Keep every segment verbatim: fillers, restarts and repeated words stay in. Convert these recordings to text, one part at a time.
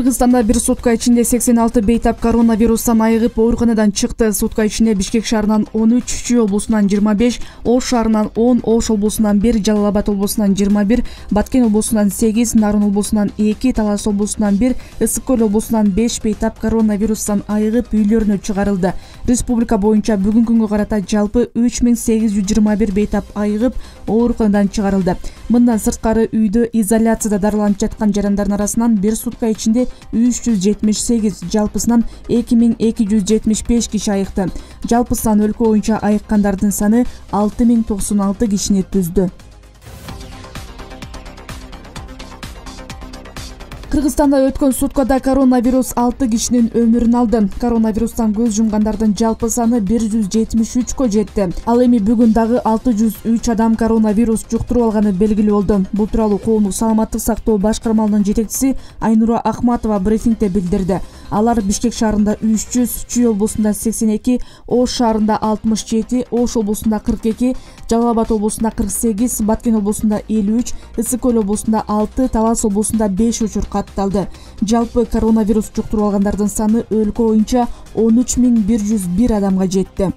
Кыргызстанда бир сутка ичинде сексен алты бейтап коронавирустан айыгып ооруканадан чыкты. Сутка ичинде Бишкек шаарынан он үч, Чүй облусунан жыйырма беш, Ош шаарынан он, Ош облусунан бир, Жалал Абад облусунан жыйырма бир, Баткен облусунан сегиз, Нарын облусунан эки, Талас облусунан бир, Ысык көл облусунан беш бейтап коронавирустан айыгып үйлөрүнө чыгарылды. Республика боюнча бүгүнкү күнгө карата жалпы үч миң сегиз жүз жыйырма бир бейтап айыгып ооруканадан чыгарылды. Мындан сырткары үйдө изоляцияда дарыланып жаткан жарандардын арасынан бир сутка ичинде үч жүз жетимиш сегиз, жалпысынан эки миң эки жүз жетимиш беш киши айыкты. Жалпысынан өлкө боюнча айыккандардын саны алты миң токсон алты кишини түздү. Кыргызстанда өткөн суткада коронавирус алты кишинин өмүрүн алды. Коронавирустан көз жумгандардын жалпы саны бир жүз жетимиш үчкө жетти. Ал эми бүгүн дагы алты жүз үч адам коронавирус жуктуруп алганы белгилүү болду. Бул тууралуу коомдук саламаттык сактоо башкармалыгынын жетекчиси Айнура Ахматова брифингде билдирди. Алар Бишкек шаарында үч жүз, Чүй облусунда сексен эки, Ош шаарында алтымыш жети, Ош облусунда кырк эки, Жалал Абад облусунда кырк сегиз, Баткен облусунда элүү үч, Ысык көл облусунда алты, Талас облусунда беш учур катталды. Жалпы коронавирус жуктуруп алгандардын саны өлкө боюнча он үч миң бир жүз бир адамга жетти.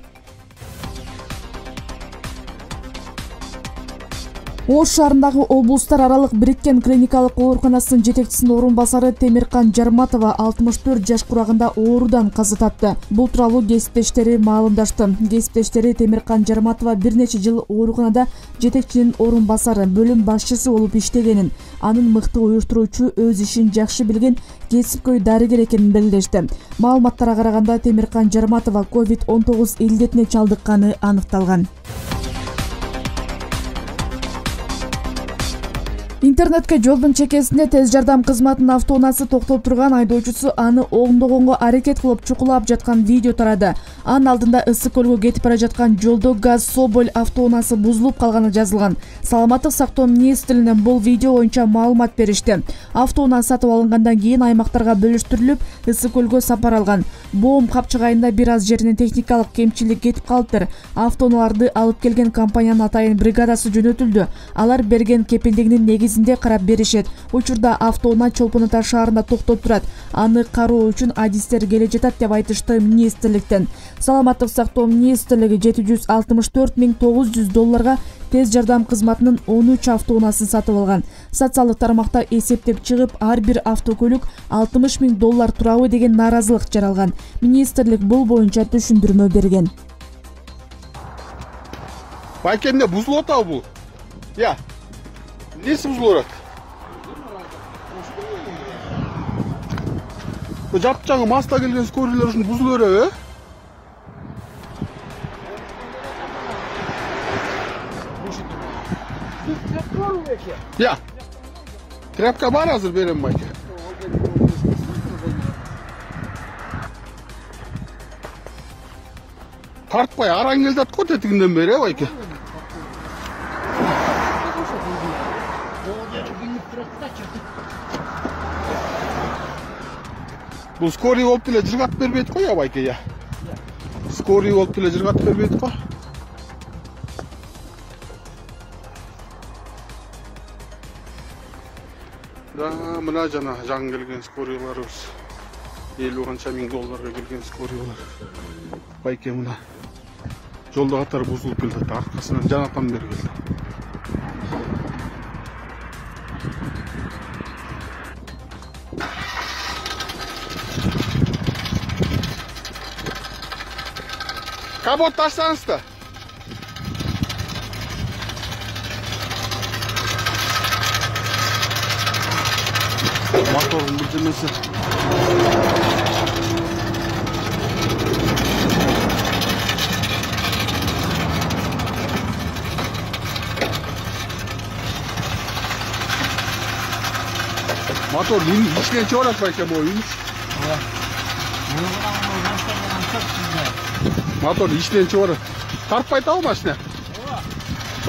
Ош шаарындагы облустар аралык бириккен клиникалык ооруканасынын жетекчисинин орун басары Темиркан Жарматова алтымыш төрт жаш курагында оорудан каза тапты. Бул тууралуу кесиптештери маалымдашты. Кесиптештери Темиркан Жарматова бир нече жыл ооруканада жетекчинин орун басары, бөлүм башчысы болуп иштегенин, анын мыкты уюштуруучу, өз ишин жакшы билген кесипкөй дарыгер экенин белгилешти. Маалыматтарга караганда Темиркан Жарматова ковид он тогуз илдетине чалдыкканы аныкталган. Интернетке жолдун чекесинде тез жардам кызматынын автоунаасы токтоп турган айдоочусу аны оңдогонго аракет кылып чукулап жаткан видео тарады. Анын алдында Ысык көлгө кетип бара жаткан жолдо ГАЗ Соболь автоунаасы бузулуп калганы жазылган. Саламаттык сактоо министрлигинен бул видео боюнча маалымат беришти. Автоунаа сатып алынгандан кийин аймактарга бөлүштүрүлүп, Ысык көлгө сапар алган. Боом капчыгайында бир аз жеринен техникалык кемчилик кетип калыптыр. Автоунааларды алып келген компаниянын атайын бригадасы жөнөтүлдү. Алар берген кепилдигинин негизинде карап беришет. Учурда автоунаа Чолпон Ата шаарында токтоп турат. Аны кароо үчүн адистер келе жатат деп айтышты министрликтен. Саламаттык сактоо министрлиги жети жүз алтымыш төрт миң тогуз жүз долларга тез жардам кызматынын он үч автоунаасын сатып алган. Социалдык тармакта эсептеп чыгып, ар бир автокөлүк алтымыш миң доллар турабы деген нааразылык жаралган. Министрлик бул боюнча түшүндүрмө берген. Байкенде бузулуп атабы бул? Я. Несі бұзылырат? Бұл жапчаңы маста келген скорилер үшін бұзылыр ә? Я. Тряпка бар азыр берем байке. Тартпай араң келдат қой тетігінден бері ә байке. Бұл скорый болып тіле жырғат бербейді қой, абайке, я. Скорый болып тіле жырғат бербейді қой. Да, мына жана жаң келген скорыйларыбыз. Елу қанша миң долларға келген скорыйлар. Байке, мына жолда қатар бұзылып келді. Арқасынан жанатан бері келді. Капот таштаңызды. Моторын бүлдемесі. Мотор içine çorak bakayım o iniş. Motor içinden çıvarı. Tartpay tavuk maşine.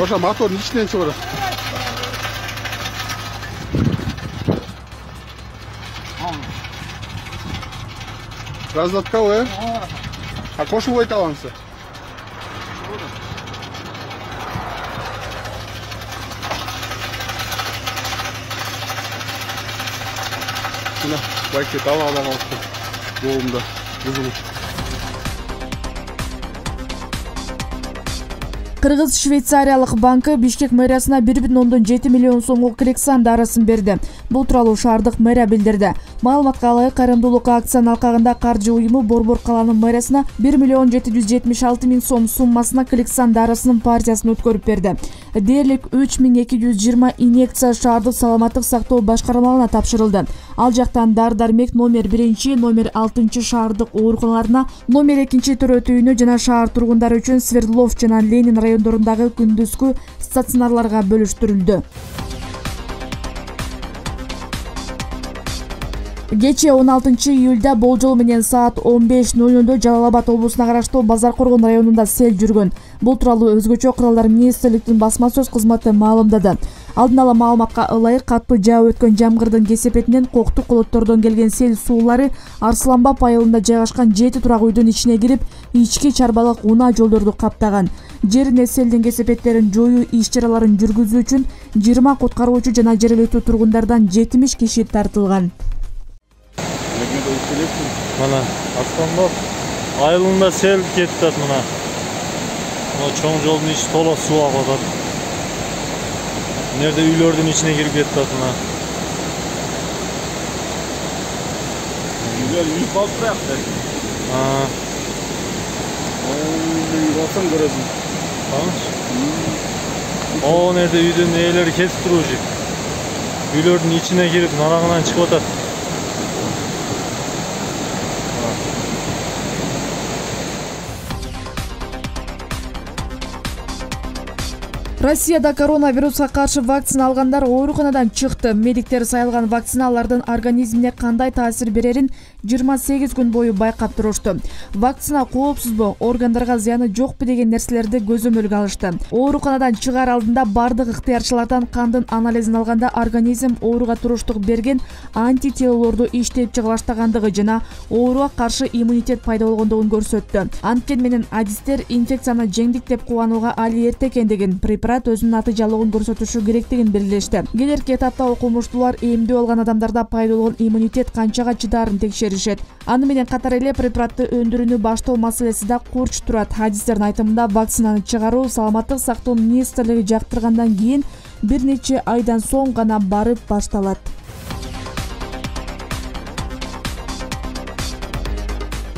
Oşa motorun içinden çıvarı. Разлаткал, э? А кошу вой талансы? Сюда. байке дала ала калыпты боомда бузулуп. Кыргыз Швейцариялык банкы Бишкек мэриясына бир бүтүн ондон жети миллион сомго Клексан дарысын берди. Бул тууралуу шаардык мэрия билдирди. Маалыматка ылайык, кайрымдуулук акциянын алкагында каржы уюму Борбор калаанын мэриясына бир миллион жети жүз жетимиш алты миң сом суммасына Клексан дарысынын партиясын өткөрүп берди. Дээрлик үч миң эки жүз жыйырма инъекция шаардык саламаттык сактоо башкармалыгына тапшырылды. Ал жактан дар-дармек номер биринчи, номер алтынчы шаардык ооруканаларына, номер экинчи төрөт үйүнө жана шаар тургундары үчүн Свердлов жана Ленин райондорундагы күндүзгү стационарларга бөлүштүрүлдү. Кечээ он алтынчы июлда болжол менен саат он беш ноль нольдо Жалал Абад облусуна караштуу Базар Коргон районунда сел жүргөн. Бул тууралуу Өзгөчө куралдар министрликтин басма сөз кызматы маалымдады. Алдын ала маалыматка ылайык, катуу жаап өткөн жамгырдын кесепетинен коктук колоттордон келген сел суулары Арсланбап айылында жайгашкан жети турак үйдүн ичине кирип, ички чарбалык унаа жолдорду каптаган. Жерине селдин кесепеттерин жоюу иш-чараларын жүргүзүү үчүн жыйырма куткаруучу жана жергиликтүү тургундардан жетимиш киши тартылган. Мына Арсланбап айылында сел кетти мына. Мына чоң жолдун ичи толо суу агып атат. Нерде үйлөрдүн ичине кирип кетти мына. Үйлөр үй калып туракты. А. Ой, басам көрөсүң. О, нерде үйдүн ээлери кетип турчу. Үйлөрдүн ичине кирип, нарагынан чыгып атат. Россияда коронавируска каршы вакцина алгандар ооруканадан чыкты. Медиктер сайылган вакциналардын организмине кандай таасир берерин жыйырма сегиз күн бою байкап турушту. Вакцина коопсузбу, органдарга зыяны жокпу деген нерселерди көзөмөлгө алышты. Ооруканадан чыгаар алдында бардык ыктыярчылардан кандын анализин алганда организм ооруга туруштук берген антителолорду иштеп чыга баштагандыгы жана ооруга каршы иммунитет пайда болгондугун көрсөттү. Анткени менен адистер инфекцияны жеңдик деп кубанууга али эрте экендигин, препарат өзүнүн натыйжалуулугун көрсөтүшү керектигин белгилешти. Келерки этапта окумуштуулар эмдөө алган адамдарда пайда болгон иммунитет канчага чыдаарын текшеришет. Аны менен катар эле препаратты өндүрүүнү баштоо маселеси да курч турат. Адистердин айтымында вакцинаны чыгаруу саламаттык сактоо министрлиги жактыргандан кийин бир нече айдан соң гана барып башталат.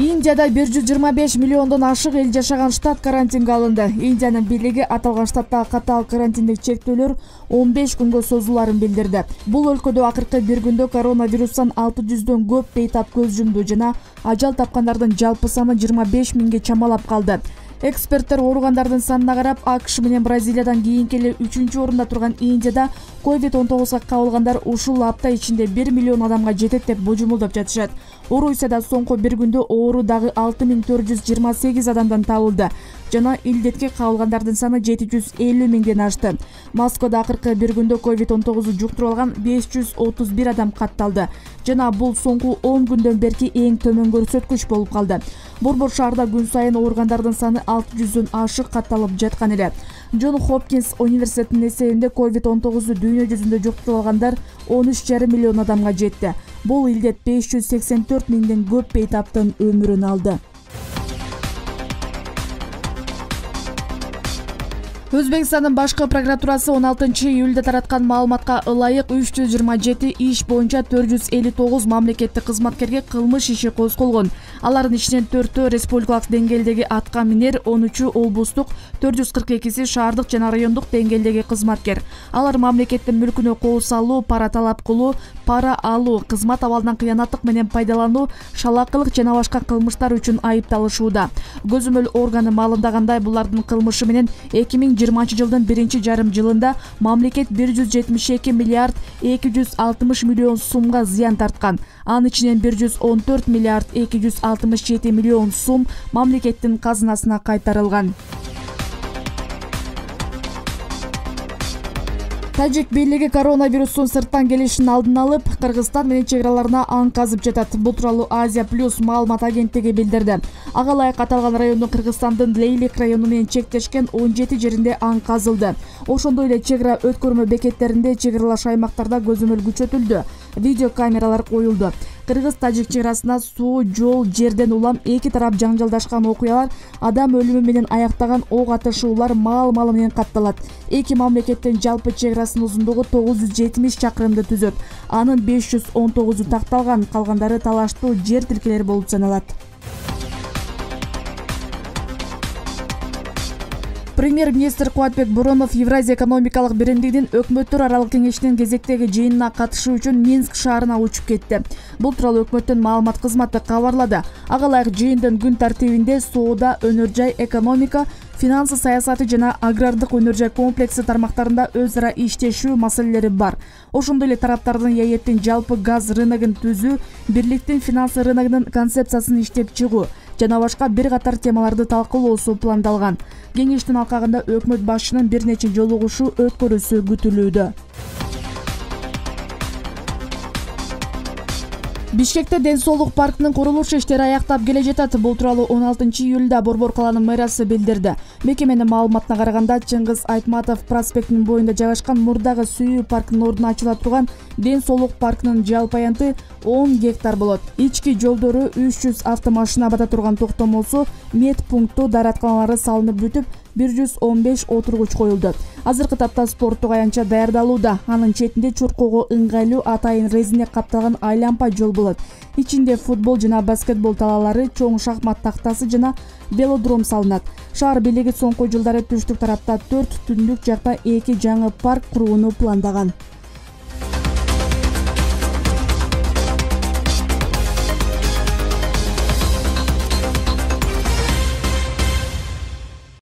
Индияда бир жүз жыйырма беш миллиондон ашык эл жашаган штат карантинге алынды. Индиянын бийлиги аталган штаттагы катаал карантиндик чектөөлөр он беш күнгө созуларын билдирди. Бул өлкөдө акыркы бир күндө коронавирустан алты жүздөн көп бейтап көз жумду жана ажал тапкандардын жалпы саны жыйырма беш миңге чамалап калды. Эксперттер ооругандардын санына карап, АКШ менен Бразилиядан кийинки эле үчүнчү орунда турган Индияда ковид он тогузга кабылгандар ушул апта ичинде бир миллион адамга жетет деп божомолдоп жатышат. Орусияда соңку бир күндө оору дагы алты миң төрт жүз жыйырма сегиз адамдан табылды жана илдетке кабылгандардын саны жети жүз элүү миңден ашты. Москвада акыркы бир күндө ковид он тогузду жуктуруп алган беш жүз отуз бир адам катталды жана бул соңку он күндөн берки эң төмөн көрсөткүч болуп калды. Борбор шаарда күн сайын ооругандардын саны алты жүздөн ашык катталып жаткан эле. Джон Хопкинс университетинин эсебинде ковид он тогузду дүйнө жүзүндө жуктуруп алгандар он үч жарым миллион адамга жетти. Бул илдет беш жүз сексен төрт миңден көп бейтаптын өмүрүн алды. Өзбекстандын башкы прокуратурасы он алтынчы июлда тараткан маалыматка ылайык үч жүз жыйырма жети иш боюнча төрт жүз элүү тогуз мамлекеттик кызматкерге кылмыш иши козголгон. Алардын ичинен төртөө республикалык деңгээлдеги атка минер, он үчү облустук, төрт жүз кырк экиси шаардык жана райондук деңгээлдеги кызматкер. Алар мамлекеттин мүлкүнө кол салуу, пара талап кылуу, пара алуу, кызмат абалынан кыянаттык менен пайдалануу, шалакылык жана башка кылмыштар үчүн айыпталышууда. Көзөмөл органы маалымдагандай, булардын кылмышы менен эки миң жыйырманчы жылдын биринчи жарым жылында мамлекет бир жүз жетимиш эки миллиард эки жүз алтымыш миллион сумга зыян тарткан. Анын ичинен бир жүз он төрт миллиард эки жүз алтымыш жети миллион сум мамлекеттин казынасына кайтарылган. Тажик бийлиги коронавирустун сырттан келишин алдын алып, Кыргызстан менен чек араларына аң казып жатат. Бул тууралуу Азия плюс маалымат агенттиги билдирди. Ага ылайык аталган райондун Кыргызстандын Лейлик району менен чектешкен он жети жеринде аң казылды. Ошондой эле чек ара өткөрмө бекеттеринде, чек аралаш аймактарда көзөмөл күчөтүлдү. видео камералар коюлду. Кыргыз-тажик чек арасында суу, жол, жерден улам эки тарап жаңжалдашкан окуялар, адам өлүмү менен аяктаган ок атышуулар маал-малы менен катталат. Эки мамлекеттин жалпы чек арасынын узундугу тогуз жүз жетимиш чакырымды түзөт. Анын беш жүз он тогузу такталган, калгандары талаштуу жер тилкелери болуп саналат. Премьер-министр Кубатбек Боронов Евразия экономикалык биримдигинин өкмөттөр аралык кеңешинин кезектеги жыйынына катышуу үчүн Минск шаарына учуп кетти. Бул тууралуу өкмөттүн маалымат кызматы кабарлады. Ага ылайык жыйындын күн тартибинде соода, өнөр жай, экономика, финансы саясаты жана агрардык өнөр жай комплекси тармактарында өз ара иштешүү маселелери бар. Ошондой эле тараптардын ЯЭТтин жалпы газ рыногун түзүү, бирликтин финансы рыногунун концепциясын иштеп чыгуу жана башка бир катар темаларды талкуулоосу пландалган. Кеңештин алкагында өкмөт башчынын бир нече жолугушуу өткөрүүсү күтүлүүдө. Бишкекте ден соолук паркынын курулуш иштери аяктап келе жатат. Бул тууралуу он алтынчы июлда Борбор калаанын мэриясы билдирди. Мекеменин маалыматына караганда, Чыңгыз Айтматов проспектинин боюнда жайгашкан мурдагы сүйүү паркынын ордуна ачыла турган ден соолук паркынын жалпы аянты он гектар болот. Ички жолдору үч жүз автомашина бата турган токтомосу, мед пункту, дааратканалары салынып бүтүп, бир жүз он беш отургуч коюлду. Азыркы тапта спорттук аянтча даярдалууда. Анын четинде чуркоого ыңгайлуу атайын резине капталган айлампа жол болот. Ичинде футбол жана баскетбол талаалары, чоң шахмат тактасы жана велодром салынат. Шаар бийлиги соңку жылдары түштүк тарапта төрт, түндүк жакта эки жаңы парк курууну пландаган.